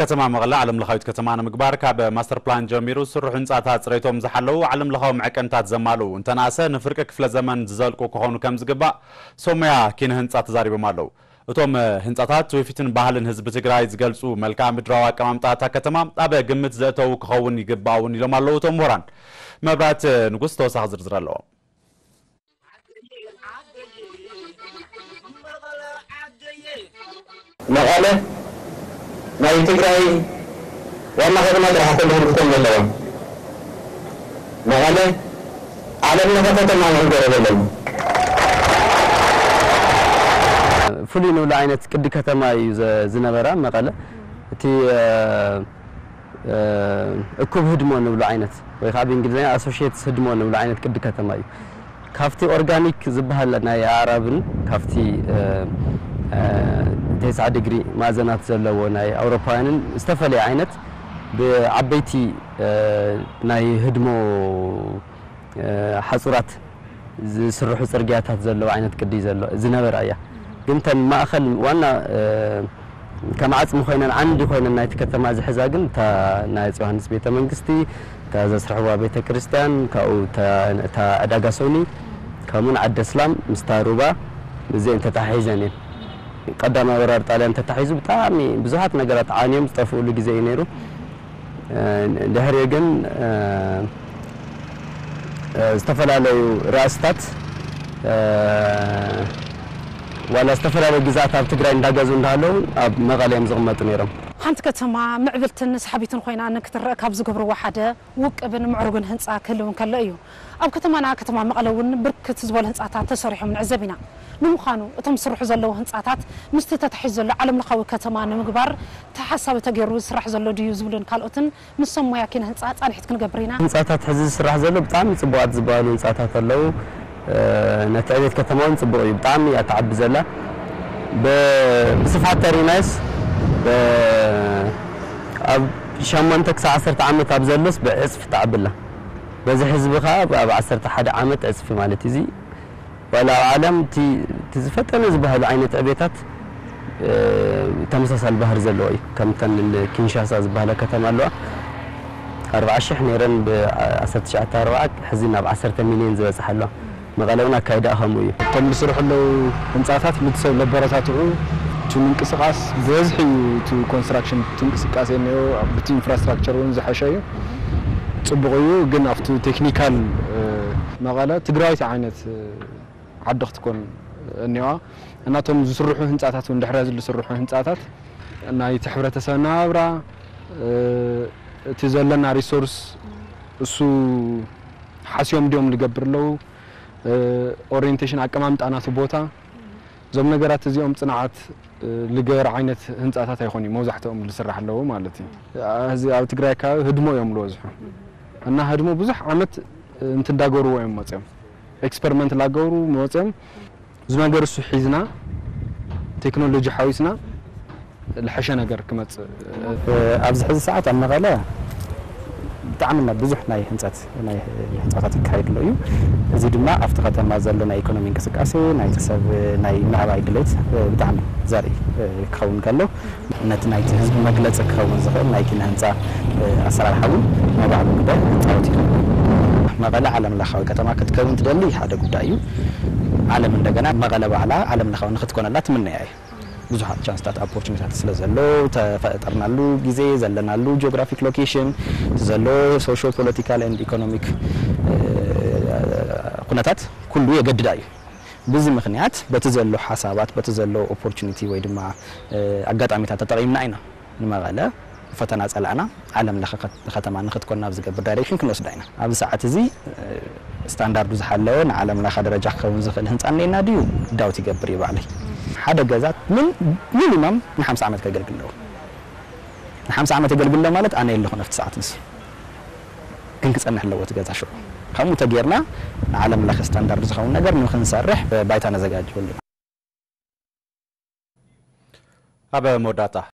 ከተማ መቐለ ዓለም ለኻዊት ከተማ ንምግባር ካብ ማስተር ፕላን ጀሚሩ ዝስርሑ ህንፃታት ፅሬቶም ዝሓለዉ ዓለም ለኻዊ መዐቀንታት ዘማልኡ እንተናእሰ ንፍርቂ ክፍለ ዘመን ዝዘልቁ ክኾኑ ከም ዝግባእ ሶሞያ ኪነ ህንፃ ተዛሪቦም ኣለዉ። እቶም ህንፃታት ትውፊትን ባህልን ህዝቢ ትግራይ ዝገልፁ መልክዓ ምድራዊ ኣቀማምጣ እታ ከተማ ኣብ ግምት ዘእተዉ ክኸውን ይግባእ እውን ኢሎም ኣለዉ እቶም ምሁራን። መብራት ንጉስ ተወሳኺ ዝርዝር ኣለዎ። መቐለ ናይ ትግራይ ዋና ከተማ ጥራሕ ኣይኮነትን ክትኮን ዘለዋ። መቐለ ዓለም ለኸ ከተማ ክንገብራ ዘለና። ፍሉይ ንብሎ ዓይነት ቅዲ ከተማ እዩ ዝነበራ መቐለ። እቲ እኩብ ህድሞ ንብሎ ዓይነት ወይ ከዓ ብእንግሊዝኛ ኣሶሽትስ ህድሞ ንብሎ ዓይነት ቅዲ ከተማ እዩ። ካብቲ ኦርጋኒክ ዝበሃል ናይ ኣዕራብን ካብቲ ተስዓ ዲግሪ ማእዘናት ዘለዎ ናይ ኣውሮፓውያንን ዝተፈለየ ዓይነት ብዓበይቲ ናይ ህድሞ ሓፁራት ዝስርሑ ፅርግያታት ዘለዎ ዓይነት ቅዲ ዘሎ ዝነበራ እያ። ግን ተን ማእኸል ዋና ከም ዓፅሚ ኮይነን ዓንዲ ኮይነን ናይቲ ከተማ ዝሕዛ ግን እታ ናይ ኣፄ ዮሃንስ ቤተ መንግስቲ፣ እታ ዘስርሕዋ ቤተ ክርስቲያን፣ ካብኡ እታ ዕዳጋ ሶኒ ከምኡን ዓዲ ኣስላም ምስታ ሩባ እዚአን ተታሒዘን እየን። ቀዳማይ ወራር ጣልያን ተታሒዙ ብጣዕሚ ብዙሓት ነገራት ዓንዮም ዝጠፍኡሉ ግዜ እዩ ነይሩ። ድሕሪኡ ግን ዝተፈላለዩ ራእስታት ዋላ ዝተፈላለዩ ግዝኣት ኣብ ትግራይ እንዳገዙ እንዳሃለዉ ኣብ መቐለ እዮም ዝቕመጡ ነይሮም። ሓንቲ ከተማ ምዕብልትን ሰሓቢትን ኮይና ንክትረእ ካብ ዝገብርዋ ሓደ ውቅብን ምዕሩግን ህንፃ ክህልው እንከሎ እዩ። ኣብ ከተማና ከተማ መቐለ እውን ብርክት ዝበሉ ህንፃታት ተሰሪሖም ንዕዘብ ኢና። ንምዃኑ እቶም ዝስርሑ ዘለዉ ህንፃታት ምስቲ ተታሒዙ ዘሎ ዓለምለኻዊ ከተማ ንምግባር ተሓሳቢ ተገይሩ ዝስራሕ ዘሎ ድዩ ዝብሉን ካልኦትን ምስ ሰብ ሞያ ኪነ ህንፃ ፃንሒት ክንገብር ኢና። ህንፃታት ሕዚ ዝስራሕ ዘሎ ብጣዕሚ ፅቡቓት ዝበሃሉ ህንፃታት ኣለዉ። ነቲ ዕቤት ከተማ እውን ፅቡቕ እዩ፣ ብጣዕሚ እያ ትዓቢ ዘላ። ብስፍሓት ተሪናዮስ ኣብ ሸሞንተ ክሳብ ዓሰርተ ዓመት ኣብ ዘሎስ ብዕፅፊ ትዓቢ ኣላ። በዚ ህዝቢ ከዓ ኣብ ዓሰርተ ሓደ ዓመት ዕፅፊ ማለት እዩ። ዋላ ኣብ ዓለም እቲ ዝፈጠነ ዝበሃሉ ዓይነት ዕቤታት ተመሳሳሊ ባህሪ ዘለዎ እዩ። ከምተን ኪንሻሳ ዝበሃላ ከተማ ኣለዋ፣ ኣርብዓ ሽሕ ነይረን ብ ዓሰርተ ትሽዓተ ኣርብዓ ሕዚ ናብ ዓሰርተ ሚልዮን ዝበፅሓ ኣለዋ። መቐለ እውን ኣካይዳኣ ከምኡ እዩ። እቶም ዝስርሑ ኣለዉ ህንፃታት ነቲ ሰብ ለበረታትዑ፣ እቲ ምንቅስቓስ ብበዝሒ እዩ እቲ ኮንስትራክሽን እቲ እንቅስቃሴ እኒኦ፣ ብቲ ኢንፍራስትራክቸር እውን ዝሐሸ እዩ። ፅቡቕ እዩ፣ ግን ኣብቲ ቴክኒካል መቐለ ትግራዊት ዓይነት ዓዲ ክትኮን እኒዋ እና እቶም ዝስርሑ ህንፃታት እውን ድሕሪ ዝስርሑ ህንፃታት ናይቲ ሕብረተሰብ ናብራ እቲ ዘለና ሪሶርስ እሱ ሓስዮም ድዮም ዝገብር ኣለዉ ኦሪንቴሽን ኣቀማምጣ ናቱ ቦታ እዞም ነገራት እዚኦም ፅንዓት ልገበር ዓይነት ህንፃታት ኣይኮኑ መብዛሕትኦም ዝስራሕ ኣለዉ ማለት እዩ። እዚ ኣብ ትግራይ ከባቢ ህድሞ እዮም ዝበዝሑ እና ህድሞ ብዙሕ ዓመት እንትዳገርዎ እዮም መፅኦም ኤክስፐሪመንት ላገብሩ መፅኦም እዚ ነገር እሱ ሒዝና ቴክኖሎጂ ሓዊስና ዝሐሸ ነገር ክመፅእ ኣብዚ ሕዚ ሰዓት ኣብ መቐለ ብጣዕሚ ብዙሕ ናይ ህንፀት ናይ ህንፃታት ይካየድ ኣሎ እዩ። እዚ ድማ ኣብቲ ከተማ ዘሎ ናይ ኢኮኖሚ እንቅስቃሴ ናይ ሰብ ናይ ምዕባይ ድሌት ብጣዕሚ ዘርኢ ክኸውን ከሎ ነቲ ናይቲ ህዝቢ መግለፂ ክኸውን ዝኽእል ናይ ኪነ ህንፃ ኣሰራርሓ እውን ናይ ባዕሉ ግደ ክፃወት ይኽእል። መቐለ ዓለም ለኻዊ ከተማ ክትከውን ትደሊ ሓደ ጉዳይ እዩ። ዓለም እንደገና መቐለ ባዕላ ዓለም ለኻዊ ንክትኮነላ ትምነያ እዩ። ብዙሓት ቻንስታት ኦፖርቹኒታት ስለ ዘሎ ተፈጠርናሉ ግዜ ዘለናሉ ጂኦግራፊክ ሎኬሽን ዘሎ ሶሾ ፖለቲካል ኤንድ ኢኮኖሚክ ኩነታት ኩሉ የገድዳ እዩ። ብዚ ምኽንያት በቲ ዘሎ ሓሳባት በቲ ዘሎ ኦፖርቹኒቲ ወይ ድማ ኣጋጣሚታት ተጠቒምና ኢና ንመቐለ ፈተና ጸላእና ዓለም ለኸ ከተማ ንክትኮን ናብ ዝገብር ዳይሬክሽን ክንወስዳ ኢና። ኣብዚ ሰዓት እዚ ስታንዳርዱ ዝሓለወ ንዓለም ለኸ ደረጃ ክኸውን ዝኽእል ህንፃ እኒኤና ድዩ ዳውት ይገብር እዩ ባዕለይ። ሓደ ገዛ ምን ሚኒማም ንሓምሳ ዓመት ከገልግል ኣለዎ። ንሓምሳ ዓመት የገልግል ኣሎ ማለት ኣነ የለኹን ኣብቲ ሰዓት ንሱ ግን ክፀንሕ ኣለዎ እቲ ገዛ ሽዑ። ከምኡ ተጌርና ንዓለም ለኸ ስታንዳርድ ዝኸውን ነገር ንክንሰርሕ ባይታ ነዘጋጅወሉ ኢና። ኣብ መወዳእታ